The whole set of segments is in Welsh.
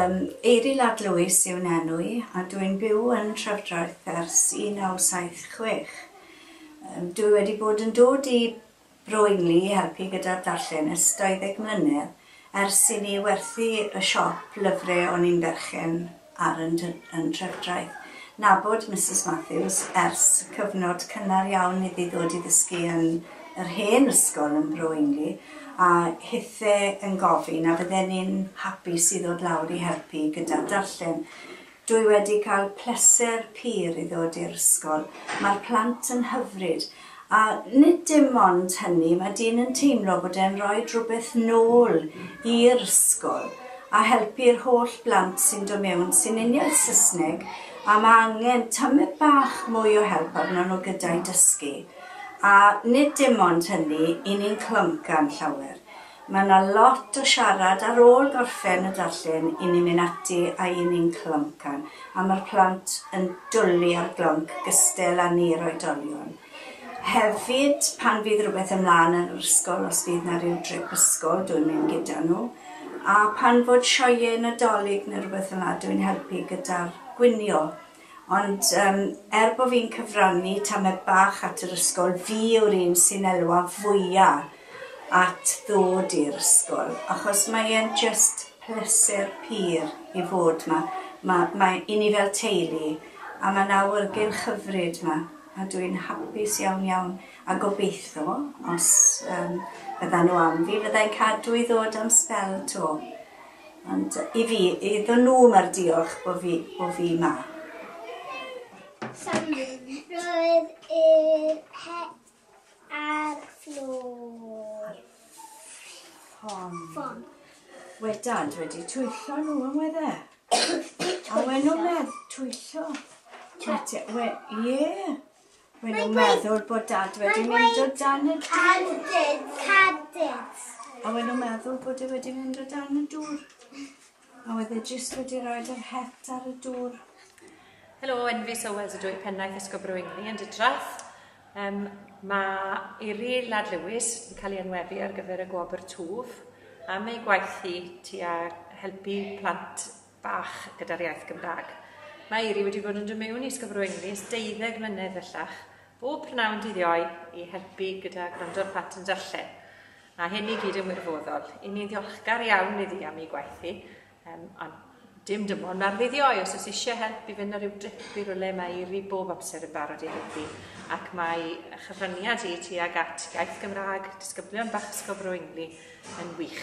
Eiry Lad Lewis yw'n enw i, a dwi'n byw yn Trefdraeth ers 1976. Dwi wedi bod yn dod i Bro Ingli i helpu gyda'r darllen ers 20 mlynedd, ers i ni werthu y siop lyfrau o'n i'n berchen ar yn Trefdraeth. Nabod Mrs Matthews ers cyfnod cynnar iawn iddi ddod i ddysgu yn yr hen ysgol yn Bro Ingli, a hithe yn gofyn a fydden ni'n hapus i ddod lawr i helpu gyda'r darllen. Dwi wedi cael pleser pur i ddod i'r ysgol. Mae'r plant yn hyfryd, a nid dim ond hynny, mae dyn yn teimlo bod e'n rhoi rhywbeth nôl i'r ysgol a helpu'r holl blant sy'n dod mewn sy'n uniaith Saesneg, a mae angen tamed bach mwy o help arno nhw gyda'i dysgu. A nid dim ond hynny, i ni'n cloncan llawer. Mae yna lot o siarad ar ôl gorffen y darllen i ni'n mynd ati a i ni'n cloncan. A mae'r plant yn dwlu ar glonc gystel â ni'r oedolion. Hefyd, pan fydd rhywbeth ymlaen yn yr ysgol, os fydd na rhyw drip ysgol, dwi'n mynd gyda nhw. A pan fod sioeau Nadolig neu rhywbeth fel 'na, dwi'n helpu gyda'r gwinio. Ond er bod fi'n cyfrannu tamed bach at yr ysgol, fi yw'r un sy'n elwa fwya at ddod i'r ysgol, achos mae e'n just pleser pur i fod 'ma. Mae i ni fel teulu, a mae'n awyrgylch hyfryd 'ma, a dwi'n hapus iawn iawn, a gobeithio, os byddan nhw am fi, fyddai'n cadw i ddod am sbel to. Ond i fi, iddyn nhw mae'r diolch bo fi 'ma. Roedd yr het ar fflôr. Ffon. We dad wedi twyllo nhw yn wedd e? A wen nhw'n meddwl twyllo. Ie. Wen nhw'n meddwl bod dad wedi mynd o dan y dŵr. Cadid. A wen nhw'n meddwl bod e wedi mynd o dan y dŵr. A wedd e jyst wedi rhoi'r het ar y dŵr. Helo, Enfys Owens ydw i, pennaeth Ysgol Bro Ingli yn Dytrath. Mae Eiry Lad Lewis yn cael ei enwebu ar gyfer y Gwobr Twf am ei gwaith hi tua helpu plant bach gyda'r iaith Gymraeg. Mae Eiry wedi bod yn dod mewn i Ysgol Bro Ingli ers 12 mlynedd bellach, bob prynhawn dydd Iau i helpu gyda gwrando'r plant yn darllen. A hyn i gyd yn wirfoddol. I ni'n ddiolchgar iawn iddi am ei gwaith hi, ond dim ond ar ddydd Iau, os oes eisiau help i fynd ar ryw drip i rywle, mae Eiry bob amser yn barod i helpu. Ac mae chyfraniad hi tuag at iaith Gymraeg, disgyblion bach Ysgol Bro Ingli yn wych.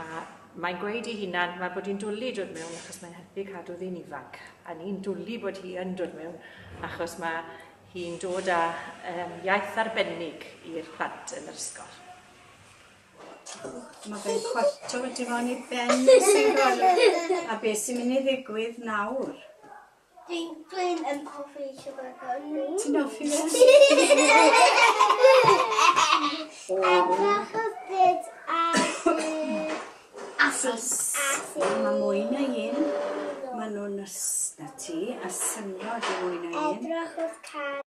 A mae'n gweud ei hunan, mae bod hi'n dwlu dod mewn achos mae'n helpu cadw ddi'n ifanc. A ni'n dwlu bod hi yn dod mewn achos mae hi'n dod â iaith arbennig i'r plant yn yr ysgol. Mae fe'n cwarto wedi fo'n ei ben sy'n gweld. A beth sy'n mynd i ddigwydd nawr? Dwi'n yn hoffi sugar gum. Ti'n hoffi fe? Edrych byd ar Asis. Mae mwy na un. Mae nhw'n na ti, a syniad i mwy na un. Edrych wrth car.